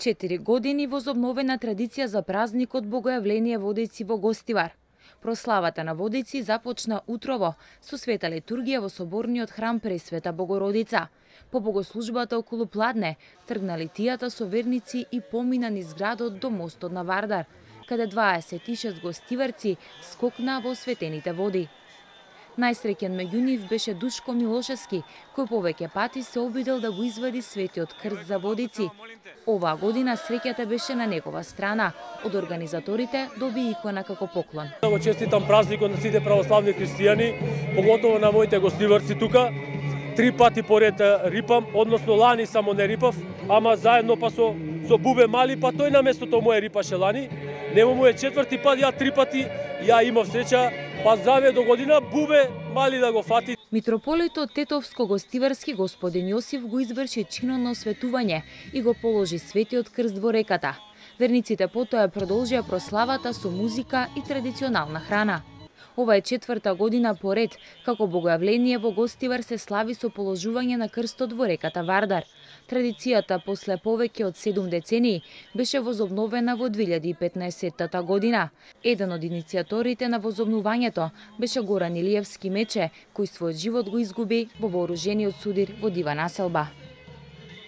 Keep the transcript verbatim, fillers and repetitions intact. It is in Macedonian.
Четири години возобновена традиција за празникот Богојавление Водици во Гостивар. Прославата на Водици започна утрово со света литургија во соборниот храм Пресвета Богородица. По богослужбата околу пладне тргна литијата со верници и помина низ градот до мостот на Вардар, каде дваесет и шест гостиварци скокна во светените води. Најсреќен меѓу нив беше Душко Милошевски, кој повеќе пати се обидел да го извади светиот крст за Водици. Оваа година среќата беше на негова страна. Од организаторите доби икона како поклон. Го честитам празникот на сите православни христијани, поготово на моите гостиварци тука. Три пати поред рипам, односно лани само не рипав, ама заедно па со, со Бубе Мали, па тој на местото моје рипаше лани. Нему му е четврти пат, ја три пати, ја имав среќа, па заве до година Бубе Мали да го фати. Митрополитот Тетовско-Гостиварски господин Јосиф го изврши чинот на осветување и го положи светиот крст во реката. Верниците потоа продолжија прославата со музика и традиционална храна. Ова е четврта година поред како Богојавление во Гостивар се слави со положување на крстот во реката Вардар. Традицијата после повеќе од седум децении беше возобновена во две илјади и петнаесетта година. Еден од иницијаторите на возобнувањето беше Горан Илиевски Мече, кој својот живот го изгуби во вооружениот судир во Дива Населба.